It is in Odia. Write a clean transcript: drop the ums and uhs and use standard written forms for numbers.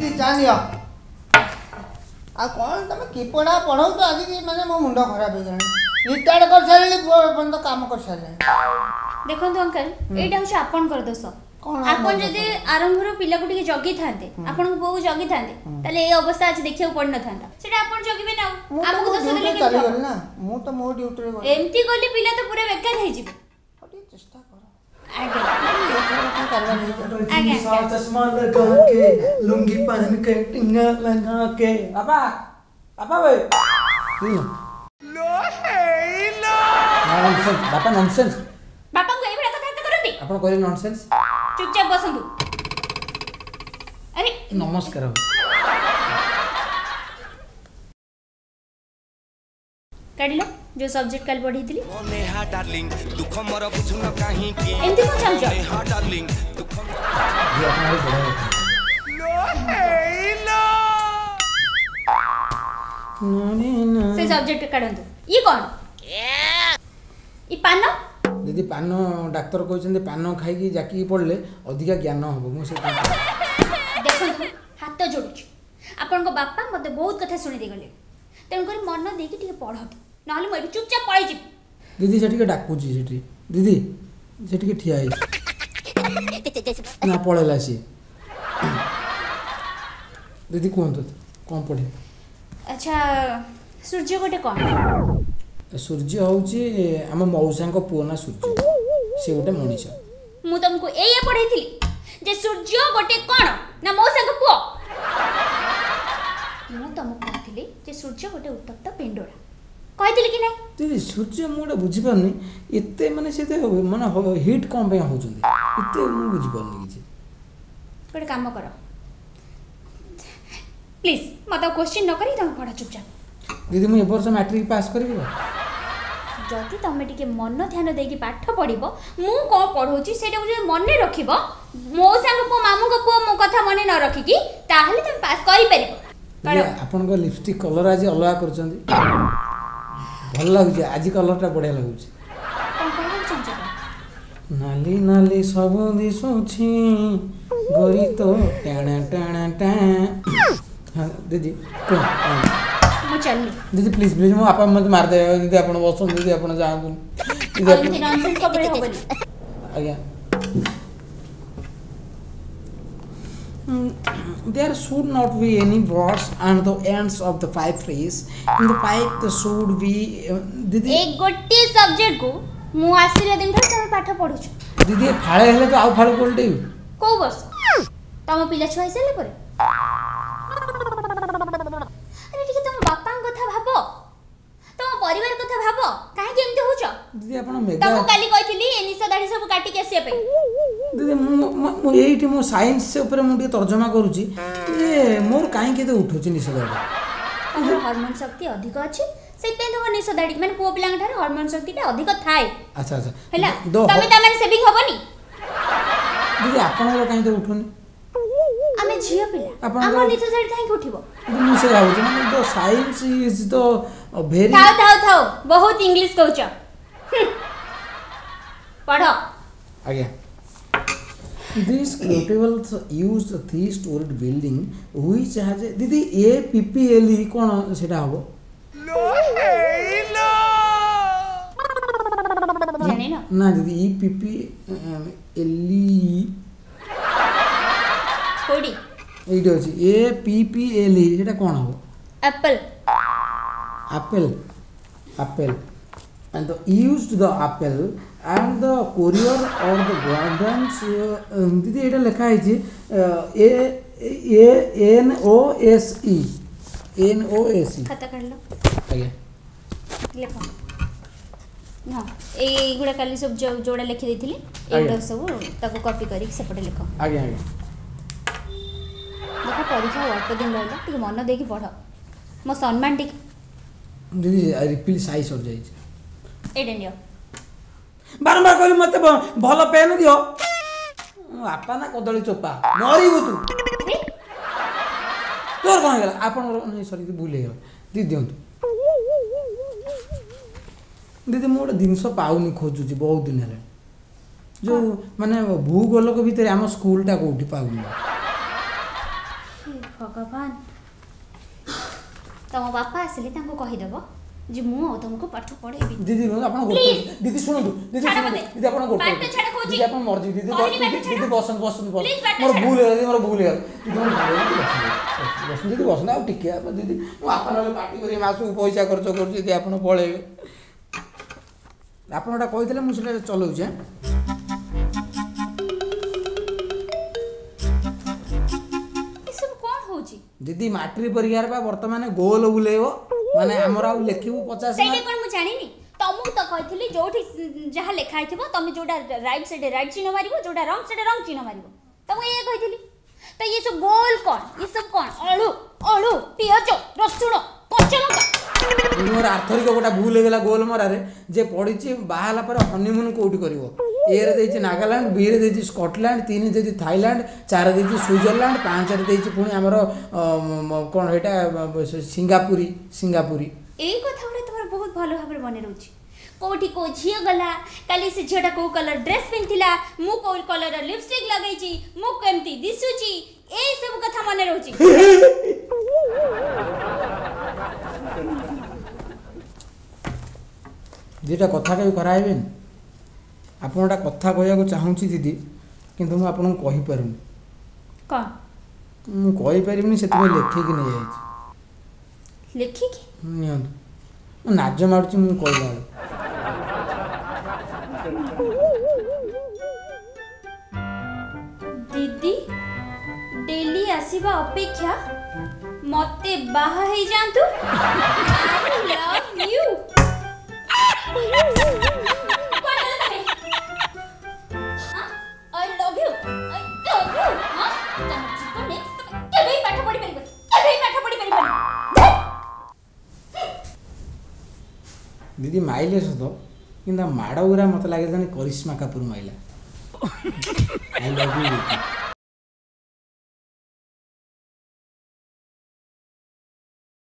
ଦିଦି ଚା ନିଅ। ଆଉ କ'ଣ ତମେ କି ପଢ଼ା ପଢ଼ଉଛ ଆଜିକି, ମାନେ ମୋ ମୁଣ୍ଡ ଖରାପ ହେଇଗଲାଣି। ରିଟାୟାର୍ଡ କରିସାରିଲିଣି, ପୁଅ ଏପର୍ଯ୍ୟନ୍ତ କାମ କରିସାରିଲାଣି। ଦେଖନ୍ତୁ ଅଙ୍କଲ, ଏଇଟା ହେଉଛି ଆପଣଙ୍କର ଦୋଷ। କ'ଣ ଆପଣ ଯଦି ଆରମ୍ଭରୁ ପିଲାକୁ ଟିକେ ଜଗିଥାନ୍ତେ, ଆପଣଙ୍କ ପୁଅକୁ ଜଗିଥାନ୍ତେ, ତାହେଲେ ଏଇ ଅବସ୍ଥା ଆଜି ଦେଖିବାକୁ ପଡ଼ିନଥାନ୍ତା। ସେଟା ଆପଣ ଜଗିବେ ନା ଆଉ ମୁଁ ତ ଆମକୁ ମୋ ଦୋଷ ଦେଲେ ଡ୍ୟୁଟିରେ କେମିତି ହବ? ଚାଲିଗଲି ନା, ମୁଁ ତ ମୋ ଡ୍ୟୁଟିରେ ଗଲି। ଏମିତି ଗଲେ ପିଲା ତ ପୁରା ବେକାର ହେଇଯିବେ। ହଉ, ଟିକେ ଚେଷ୍ଟା କର। ଆଜ୍ଞା। ଏଥର କଣ କାରବାର ହେଇଯିବ। ଆଜ୍ଞା। सा चश्मा लगा के, लुंगी पहन के, टिंगा लगा के, ବାପା ବାପା ବେ ନନସେନ୍ସ ବାପା, ନନସେନ୍ସ। ବାପାଙ୍କୁ ଏଇଭଳିଆ କଥାବାର୍ତ୍ତା କରନ୍ତି? ଆପଣ କହିଲେ ନନସେନ୍ସ। ଚୁପଚାପ ବସନ୍ତୁ। ଆରେ ନମସ୍କାର। କାଢିଲ ଯୋଉ ସବଜେକ୍ଟ କାଲି ପଢେଇଥିଲି। ନେହା ଡାର୍ଲିଂ, ଦୁଃଖ ମୋର ବୁଝୁନ କାହିଁକି? ଏମିତି କଣ ଚାହୁଁଛ? ନେହା ଡାର୍ଲିଂ, ଦୁଃଖ ଦିଦି, ଆପଣ ଭାରି ବଢ଼ିଆ କଥା। ସେ ସବଜେକ୍ଟ କାଢନ୍ତୁ। ଇଏ କଣ? ଇ ପାନ। ଦିଦି, ପାନ ଡାକ୍ତର କହିଛନ୍ତି ପାନ ଖାଇକି ଜାକିକି ପଡ଼ିଲେ ଅଧିକା ଜ୍ଞାନ ହବ। ମୁଁ ସେ ଦେଖନ୍ତୁ, ହାତ ଯୋଡୁଛି, ଆପଣଙ୍କ ବାପା ମୋତେ ବହୁତ କଥା ଶୁଣି ଦେଇଗଲେ, ତେଣୁକରି ମନ ଦେଇକି ଟିକେ ପଢନ୍ତୁ, ନହେଲେ ମୁଁ ଏଠୁ ଚୁପଚାପ ପଳେଇଯିବି। ଦିଦି, ସେ ଟିକେ ଡାକୁଛି ସେଠି। ଦିଦି, ସେ ଟିକେ ଠିଆ ହେଇଛି ନା ପଳେଇଲା ସିଏ? ଦିଦି, କୁହନ୍ତୁ କ'ଣ ପଢ଼ିବେ? ଆଚ୍ଛା, ସୂର୍ଯ୍ୟ ଗୋଟେ କଣ? ସୂର୍ଯ୍ୟ ହେଉଛି ଆମ ମଉସାଙ୍କ ପୁଅ ନା ସୂର୍ଯ୍ୟ, ସେ ଗୋଟେ ମଣିଷ। ମୁଁ ତମକୁ ଏଇଆ ପଢେଇଥିଲି ଯେ ସୂର୍ଯ୍ୟ ଗୋଟେ କଣ ନା ମଉସାଙ୍କ ପୁଅ? ମୁଁ ତମକୁ କହୁଥିଲି ଯେ ସୂର୍ଯ୍ୟ ଗୋଟେ ଉତ୍ତପ୍ତ ପିଣ୍ଡୋଳା, କହିଥିଲି କି ନାହିଁ? ଦିଦି, ସୂର୍ଯ୍ୟ ମୁଁ ଗୋଟେ ବୁଝିପାରୁନି, ଏତେ ମାନେ ସେ ଏତେ ମାନେ ହିଟ୍ କ'ଣ ପାଇଁ ହେଉଛନ୍ତି ଏତେ, ମୁଁ ବୁଝିପାରୁନି କିଛି। ଗୋଟେ କାମ କର ପ୍ଲିଜ୍, ମତେ ଆଉ କୋଶ୍ଚିନ୍ ନ କରି ତମେ ପଢ ଚୁପଚାପ। ଦିଦି, ମୁଁ ଏ ବର୍ଷ ମ୍ୟାଟ୍ରିକ୍ ପାସ୍ କରିବି ତ? ଯଦି ତମେ ଟିକେ ମନ ଧ୍ୟାନ ଦେଇକି ପାଠ ପଢିବ, ମୁଁ କ'ଣ ପଢଉଛି ସେଇଟାକୁ ଯଦି ମନେ ରଖିବ, ମଉସାଙ୍କ ପୁଅ ମାମୁଙ୍କ ପୁଅ ମୋ କଥା ମନେ ନ ରଖିକି, ତାହେଲେ ତମେ ପାସ୍ କରିପାରିବ। ଦିଦି, ଆପଣଙ୍କ ଲିପଷ୍ଟିକ୍ କଲର୍ ଆଜି ଅଲଗା କରୁଛନ୍ତି, ଭଲ ଲାଗୁଛି ଆଜି, କଲର୍ଟା ବଢ଼ିଆ ଲାଗୁଛି। କ'ଣ କହିବାକୁ ଚାହୁଁଛ କଣ? ନାଲି ନାଲି ସବୁ ଦିଶୁଛି ଗୋରି ତ ଟାଣ ଟାଣ ଟାଣ। ହଁ ଦିଦି, କୁହ ହଁ। ମୁଁ ଚାଲିଲି। ଦିଦି, ପ୍ଲିଜ୍ ପ୍ଲିଜ୍, ମୋ ବାପା ମୋତେ ମାରିଦେବେ। ଦିଦି, ଆପଣ ବସନ୍ତୁ। ଦିଦି, ଆପଣ ଯାଆନ୍ତୁନି ଦିଦି। ଆଉ ଏମିତି ନନସେନ୍ସ ସବୁବେଳେ ହବନି। ଆଜ୍ଞା। There should not be any words and the ends of the pipe phrase in the pipe the should be ଦିଦି। ଏଇ ଗୋଟିଏ ସବଜେକ୍ଟକୁ ମୁଁ ଆସିଲା ଦିନଠାରୁ ତମେ ପାଠ ପଢୁଛ। ଦିଦି, ଫାଳେ ହେଲେ ତ ଆଉ ଫାଳେ ଓଲଟେଇବି। କୋଉ ବର୍ଷ ତମ ପିଲା ଛୁଆ ହେଇସାରିଲା ପରେ? ଆରେ ଟିକେ ତମ ବାପାଙ୍କ କଥା ଭାବ, ତମ ପରିବାର କଥା ଭାବ, କାହିଁକି ଏମିତି ହଉଛ? ଦିଦି, ଆପଣ ମେଗା ତମକୁ କାଲି କହିଥିଲି ଏ ନିଶ ଦାଢି ସବୁ କାଟିକି ଆସିବା ପାଇଁ। ଦିଦି, ମୁଁ ଏଇଠି ମୁଁ ସାଇନ୍ସ ଉପରେ ମୁଁ ଟିକେ ତର୍ଜମା କରୁଛି ଯେ ମୋର କାହିଁକି ଏତେ ଉଠୁଛି ନିଶ ଦାଢ଼ି। ତମର ହରମୋନ ଶକ୍ତି ଅଧିକ ଅଛି, ସେଥିପାଇଁ ତମ ନିଶ ଦାଢି, ମାନେ ପୁଅ ପିଲାଙ୍କ ଠାରୁ ହରମୋନ ଶକ୍ତିଟା ଅଧିକ ଥାଏ। ଆଚ୍ଛା। ହେଲା ତମେ ତା ମାନେ ସେଭିଂ ହବନି। ଦିଦି, ଆପଣଙ୍କର କାହିଁ ତ ଉଠୁନି? ଆମେ ଝିଅ ପିଲା, ଆମ ନିଶ ଦାଢି କାହିଁକି ଉଠିବ? ଦିଦି, ମୁଁ ସେ ଭାବୁଛି ମାନେ the science is the very ଥାଉ ଥାଉ ଥାଉ, ବହୁତ ଇଂଲିଶ କହୁଛ। ପଢ। ଆଜ୍ଞା। This quotable used a three-storied building which has a ଦିଦି, A P P L E କ'ଣ ସେଇଟା ହବ? ଜାଣିନ? ନା ଦିଦି, E P P L E। କୋଉଠି? ଏଇଠି ଅଛି A P P L E, ସେଇଟା କ'ଣ ହବ? Apple. Apple, apple and the used the apple and the courier or the gardens। ଦିଦି, ଏଇଟା ଲେଖା ହେଇଛି A A N O S E, N O S E। ଖାତା କାଢିଲ? ଆଜ୍ଞା। ଲେଖ। ହଁ, ଏଇଗୁଡ଼ା କାଲି ସବୁ ଯୋଉ ଯୋଉଟା ଲେଖି ଦେଇଥିଲି, ଏଇଗୁଡ଼ା ସବୁ ତାକୁ କପି କରିକି ସେପଟେ ଲେଖ। ଆଜ୍ଞା। ଦେଖ, ପରୀକ୍ଷା ଆଉ ଅଳ୍ପ ଦିନ ରହିଲା, ଟିକେ ମନ ଦେଇକି ପଢ, ମୋ ସମ୍ମାନ ଟିକେ। ଦିଦି, ରିଫିଲ୍ ସାଇ ସରିଯାଇଛି। ଏଇଟା ନିଅ। ବାରମ୍ବାର କହିଲି ମୋତେ ଭଲ ପେନ୍ ଦିଅ। ମୋ ବାପା ନା କଦଳୀ ଚୋପା, ମରିବୁ ତୁ। ଆରେ ତୋର କ'ଣ ହେଇଗଲା? ଆପଣଙ୍କର ନାଇଁ, ସରି, ଭୁଲ ହେଇଗଲା ଦିଦି, ଦିଅନ୍ତୁ। ଦିଦି, ମୁଁ ଗୋଟେ ଜିନିଷ ପାଉନି, ଖୋଜୁଛି ବହୁତ ଦିନ ହେଲାଣି, ଯେଉଁ ମାନେ ଭୂଗୋଲକ ଭିତରେ ଆମ ସ୍କୁଲଟା କୋଉଠି ପାଉନି। ହେ ଭଗବାନ, ତମ ବାପା ଆସିଲେ ତାଙ୍କୁ କହିଦେବ ଯେ ମୁଁ ଆଉ ତମକୁ ପାଠ ପଢ଼େଇବି। ଦିଦି, ରୁହନ୍ତୁ, ଆପଣ ଗୋଟେ। Please. ଦିଦି ଶୁଣନ୍ତୁ, ଦିଦି। ଛାଡ଼ ଶୁଣନ୍ତୁ। ମତେ। ଦିଦି, ଆପଣ ଗୋଟେ। ବାଟ ଛାଡ଼ କହୁଛି। ଦିଦି, ଆପଣ ମରିଯିବେ ଦିଦି। କହିଲି ବାଟ ଦିଦି। ଛାଡ଼। ଦିଦି, ବସନ୍ତୁ, ବସନ୍ତୁ, ବସନ୍ତୁ। Please, ବାଟ ମୋର ଛାଡ଼। ଭୁଲ ହେଇଗଲା ଦିଦି, ମୋର ଭୁଲ ହେଇଗଲା ଦିଦି, ମୋର ଭୁଲ ହେଇଗଲା। ବସନ୍ତୁ, ବସନ୍ତୁ ଦିଦି, ବସନ୍ତୁ ଆଉ ଟିକେ। ଆପଣ ଦିଦି, ମୋ ବାପା ନହେଲେ ପାଟି କରିବେ, ମାସକୁ ପଇସା ଖର୍ଚ୍ଚ କରୁଛି। ଯଦି ଆପଣ ପଳେଇବେ, ଆପଣ ଏଟା କହିଥିଲେ, ମୁଁ ସେଟା ଚଲାଉଛି। ଆଁ, ଏସବୁ କ'ଣ ହଉଛି? ଦିଦି, ମାଟ୍ରିକ ପରୀକ୍ଷାରେ ବା ବର୍ତ୍ତମାନ ଗୋଲ ବୁଲେଇବ, ମାନେ ଆମର ଆଉ ଲେଖିବୁ 50 ସେଇଟା ମାର୍କ। କ'ଣ ମୁଁ ଜାଣିନି? ତମକୁ ତ କହିଥିଲି, ଯୋଉଠି ଯାହା ଲେଖା ହେଇଥିବ ତମେ ଯୋଉଟା ରାଇଟ୍ ସାଇଡ୍ ରାଇଟ୍ ଚିହ୍ନ ମାରିବ, ଯୋଉଟା ରଙ୍ଗ ସେଇଟା ରଙ୍ଗ ଚିହ୍ନ ମାରିବ। ତମକୁ ଏଇଆ କହିଥିଲି ତ। ଇଏ ସବୁ ଗୋଲ କ'ଣ? ଇଏ ସବୁ କ'ଣ? ଆଳୁ, ଆଳୁ, ପିଆଜ, ରସୁଣ, କଞ୍ଚା ଲଙ୍କା। ଦିଦି, ମୋର ଆର୍ଥରିକ ଗୋଟା ଭୁଲ ହେଇଗଲା ଗୋଲ ମରାରେ ଯେ ପଡ଼ିଛି, ବାହା ହେଲା ପରେ ହନିମୁନ୍ କୋଉଠି କରିବ? ଏରେ ଦେଇଛି ନାଗାଲାଣ୍ଡ, ବିରେ ଦେଇଛି ସ୍କଟଲ୍ୟାଣ୍ଡ, 3 ଦେଇଛି ଥାଇଲାଣ୍ଡ, 4 ଦେଇଛି ସୁଇଜରଲ୍ୟାଣ୍ଡ, 5ରେ ଦେଇଛି ପୁଣି ଆମର କ'ଣ ଏଇଟା, ସିଙ୍ଗାପୁରୀ, ସିଙ୍ଗାପୁରୀ। ଏଇ କଥା ଗୁଡ଼ା ତୁମର ବହୁତ ଭଲ ଭାବରେ ମନେ ରହୁଛି। କୋଉଠି କୋଉ ଝିଅ ଗଲା କାଲି, ସେ ଝିଅଟା କୋଉ କଲର୍ ଡ୍ରେସ୍ ପିନ୍ଧିଥିଲା, ମୁଁ କୋଉ କଲର୍ର ଲିପଷ୍ଟିକ୍ ଲଗେଇଛି, ମୁଁ କେମିତି ଦିଶୁଛି, ଏଇ ସବୁ କଥା ମନେ ରହୁଛି। ଦୁଇଟା କଥା କହି ଖରାପ ହେବେନି। ଆପଣ ଗୋଟା କଥା କହିବାକୁ ଚାହୁଁଛି ଦିଦି, କିନ୍ତୁ ମୁଁ ଆପଣଙ୍କୁ କହିପାରୁନି। କ'ଣ? ମୁଁ କହିପାରିବିନି, ସେଥିପାଇଁ ଲେଖିକି ନେଇଯାଇଛି। ଲେଖିକି? ନିଅନ୍ତୁ। ମୁଁ ନାଜ ମାରୁଛି ମୁଁ କହିଲା ବେଳକୁ। ଦିଦି ଡେଲି ଆସିବା ଅପେକ୍ଷା ମତେ ବାହା ହେଇଯାଆନ୍ତୁ। I love you. I love you, I love you. ତମ ଜୀବନରେ ତମେ କେବେ ବି ପାଠ ପଢି ପାରିବନି, କେବେ ବି ପାଠ ପଢି ପାରିବନି। ଦିଦି ମାଇଲେ ସତ, କିନ୍ତୁ ତା ମାଡ଼ ଗୁରା ମୋତେ ଲାଗେ ଜାଣି କରିସ୍ମା କାପୁର ମାଇଲା। I love you.